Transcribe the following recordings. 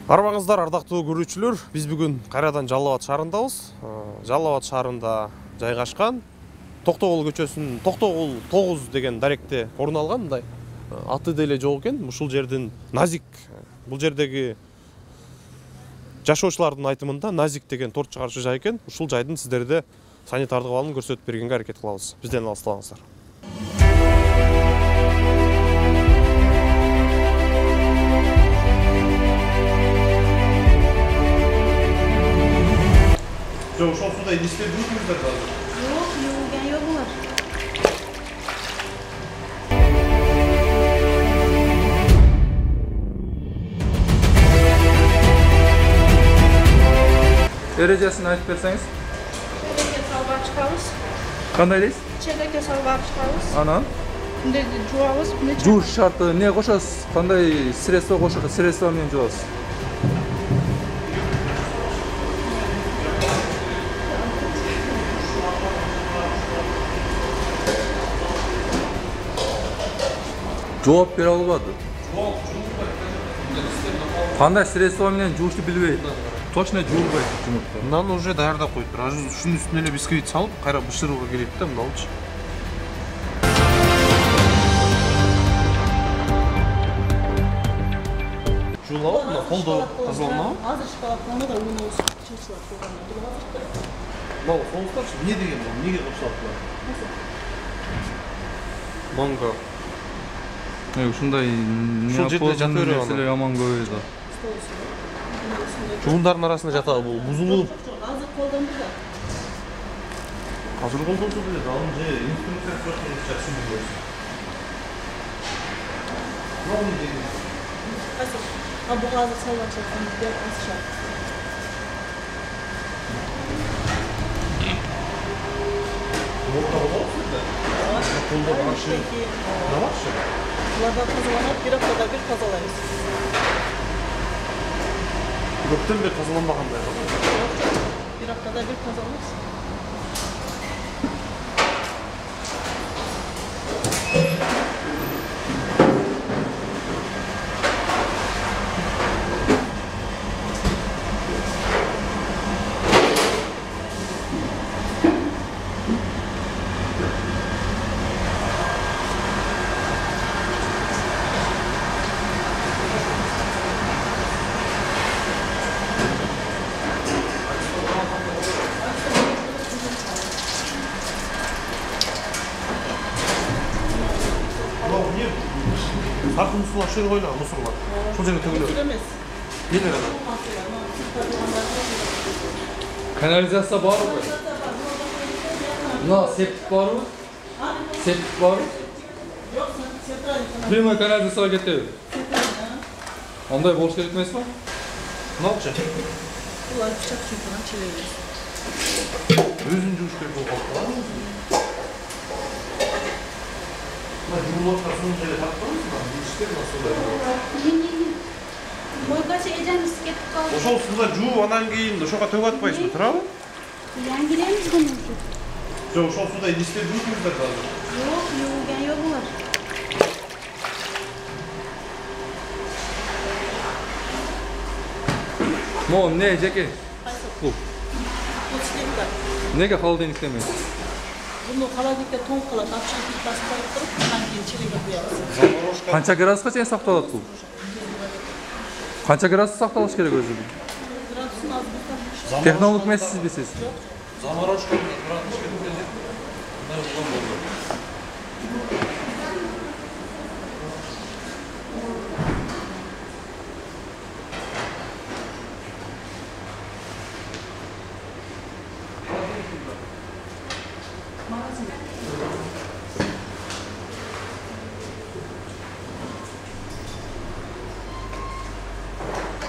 Арбаңыздар, ардактуу көрүүчүлөр, биз бүгүн кайрадан Жалал Абад шаарындабыз. Жалал Абад шаарында жайгашкан Токтогул көчөсүнүн Токтогул 9 деген даректе орун алган мындай аты деле жок экен. Ушул жердин Назик, бул жердеги жашоочулардын айтымында Назик деген торт чыгарчу жай экен. Ушул жайдын сиздерде санитардык абалын көрсөтүп бергенге аракет кылабыз. Бизден алыстабаңыздар. Жоқ, ошол суда идиште жүрүңүздөр азыр. Жок, юуган жок булар. Эрежесин айтып берсеңиз. Челекке салып алып чыгабыз. Кандай дейсиз? Челекке салып алып чыгабыз. Анан Мындайды жуабыз. жууш шарты эмне кошосуз? Кандай средство кошот? Средство менен жуабыз. Жооп бере албады. Кандай средство менен жуушты билбейт. Точно жуулбайт жумуртка. Мынаны уже даярдап коюптур. Азыр ушунун үстүнө эле бисквит салып, кайра бышырууга келет да, мыналычы. Жуулабы, мына колдо тазаланабы? Азыр шоколадтаны да уну чечилип койгон. Мал, соустарчы, эмне деген бул? Эмнеге кошулат булар? Манго. Ушундай Ушул жерде жата берип нерселер яман көп да. Жуундардын арасында жатабы бул, бузулуп. Азыр колдонду да. Азыр колдонду деле, ал же инструкция сұрақтан жақсы білесіз. Мына не деген? Қайсы? Бұл азыр салып жатқан бер асыша. Молда боласыз да? Колда башы. Не башы? Бұларда тазаланып, bir haftada bir тазалаймыз. Көптен бері тазаланбағандай ғой? Bir haftada bir тазалаймыз. Сарқын мұсылар шер қойла, мұсырлар. Сол жерге төгілер. Емес. Нелер ана? Канализация бар ғой? Мына септик барбы? Септик барбы? Жоқ, центральный. Прямой канализацияға кетеді. Андай болуш керек емес па? Мыналчы? Бұлар пышақ чүйкінен челейміз. Өзін жуыш керек болып қалды. Жуылып соның жерде тартпаңыз ба? Işler nasıl oluyor? Boygacha ejamiz ketib qoldi. Ошол суда жууп анан кийин ошого төгүп атпайсызбы, туурабы? Yangilamiz buni. Жок, ошол суда идиште жүрүңүздөр азыр. Yo'q, yuvilgan yo'q bular. Mo, ne жеке? Qaysi? Bu. Bu cheklar. Nega холодильник demaysiz? Buni холодильникке тоңуп калат, апшатып басып коюп туруп, андан кийин челекке куябыз. Канча градуска чейин сакталат бул? Канча градус сакталыш керек өзү? Градусын азыр Технолог эмессизби сиз? Заморозка градус кеткен. Мындай болгон болду.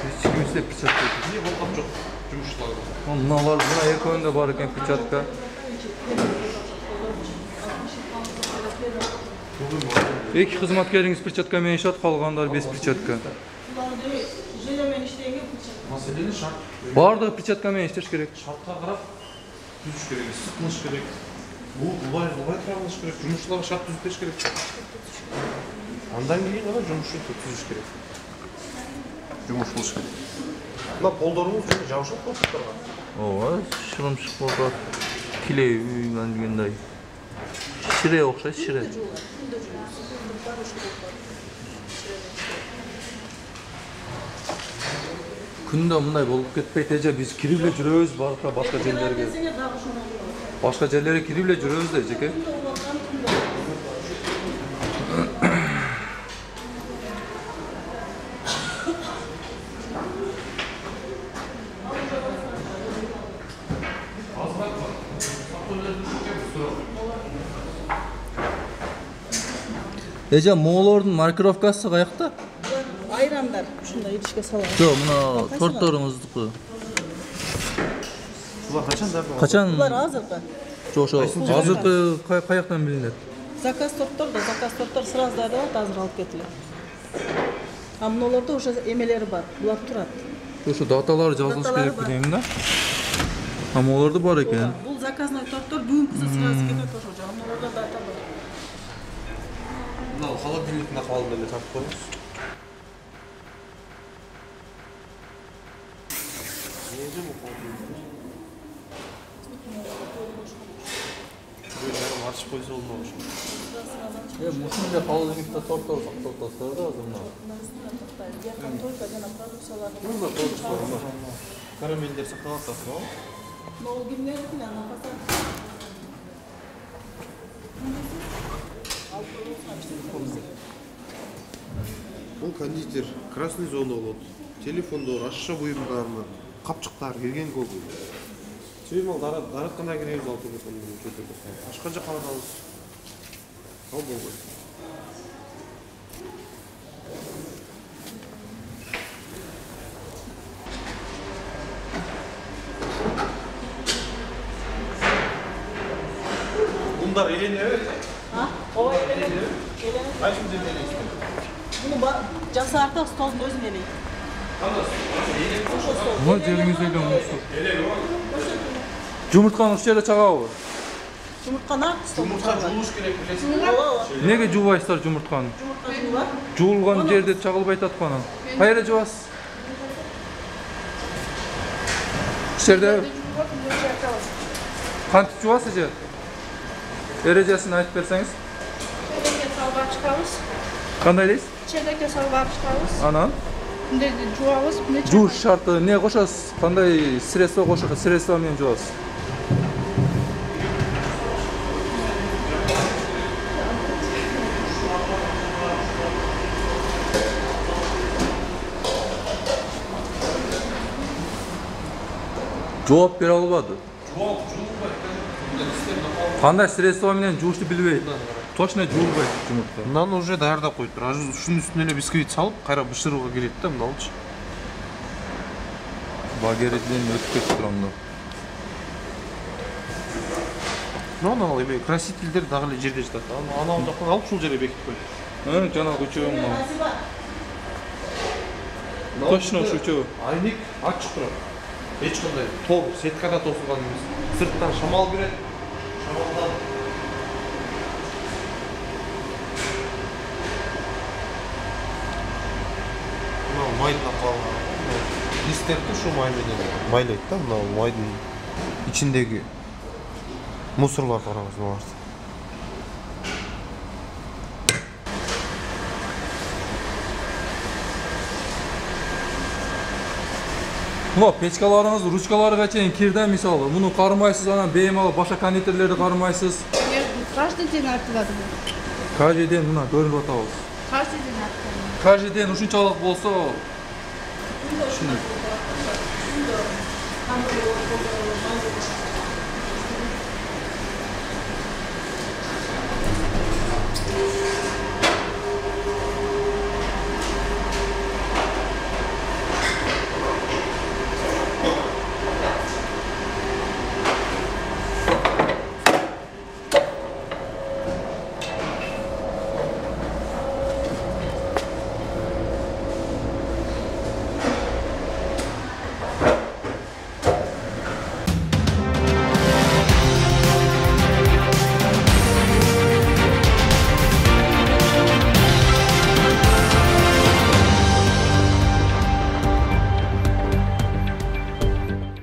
Ешкімізде перчатка жоқ. Не болған жоқ жұмысшылар. Мыналар, мына экөөндө бар экен перчатка. Эки кызматкериңиз перчатка менен иштеп, калгандар без перчатка. желемен иштеген перчатка. Маселени шарт. Бардыгы перчатка менен иштеш керек. Шартка карап түзүш керек, сыкыныш керек. Улай турабылыш керек, жұмысшыларға шарт түзүш керек. Андан кейін ғана жұмысшы түзүш керек. жумуш кылыш керек. Мына полдоруңуз жөнүндө жабышат болсуңарга. Ооба, шырымшык болот. Килей үйгөн дегендей. Шире окшойт, шире. Күндө мындай болуп кетпейт эже, биз кирип эле жүрөбүз башка жерлерге. Башка жерлерге кирип эле жүрөбүз да эжеке. Эже, моолордун маркировкасы каякта? Айрандар ушундай идишке салат. Жок, мына тортторуңуздуку. Булар качандардан? Качан? Булар азыркы. Жок, азыркы каяктан билинет? Заказ торттор сразу дайралат, азыр алып кетилет. А мыналарда уже эмелери бар. Булар турат. Ошо даталары жазылыш керек билем да. А моолорда бар экен. Бул заказной торттор бүгүнкүсү сразу кетет ошо жагы. Мыналарда дата бар. Мына холодильниктин акыбалында эле тартып коюңуз. Ачып койсо болмок ошо. Мушундай холодильникте торттор сакталып атат да азыр мына. Только жана продукциялар. Карамелдер сакталып атасызбы? Нол кимдердин анан пасар. Бул кондитер красный зона болот. Телефондор, ашша буюмдармы, капчыктар кирген көбү. Чыймал дараткандан кийин өз алып кеткен чөтөдө. Башка жака барабыз. Ал болбойт. Bunlar eğleniyor. Ha? Ova eğleniyor. Kaçıncı deneyişti? Bunu jasarta stolun özün eleydi. Мына жериңиз эле мусу. Жумуртканы ушул жерде чагабы? Жумуртканы стол. Yumurta juluş gerek bilesiniz. Неге жуубайсыздар жумуртканы? Жумуртка жуулар. Жуулган жерде чагылбай атат кана. Кайра жуасыз? Ушул жерде кантип жуасыз эже? Эрежесин айтып берсеңиз. Çeyrek salvar çıkarız. Кандай дейсиз? Çeyrek salvar çıkarız. Анан Şimdi çuvağız. жууш шарты эмне кошосуз? Кандай средство кошосуз? Средство менен жуасыз? Жооп бере албады. Кандай средство менен жуушты билбейт. Точно жуулбайт жумуртка. Мынаны уже даярдап коюптур. Азыр ушунун үстүнө эле бисквит салып, кайра бышырууга кирет да, мыналычы. Багериден өтүп кетип турам. Мына ал эме красительдер дагы эле жерде жатат. Анау жактан алып ушул жерге бекитип коюп. Жана үчөө мына. Точно ушу үчөө. Айник ачык турат. Эч кандай тор, сеткада тосулган эмес. Сырттан шамал кирет. Шамалдан майдын акыбалы. Листтерди ушу май менен майлайт да, мына майдын ичиндеги мусорларды караңыз мына. Мына печкаларыңыз, ручкаларга чейин кирди мисалы. Муну кармайсыз, анан бейим алып башка кондитерлерди кармайсыз. Каждый день артылады. Каждый день мына көрүнүп атабыз. Каждый день артылады. Каждый день ушунчалык болсо, ушуну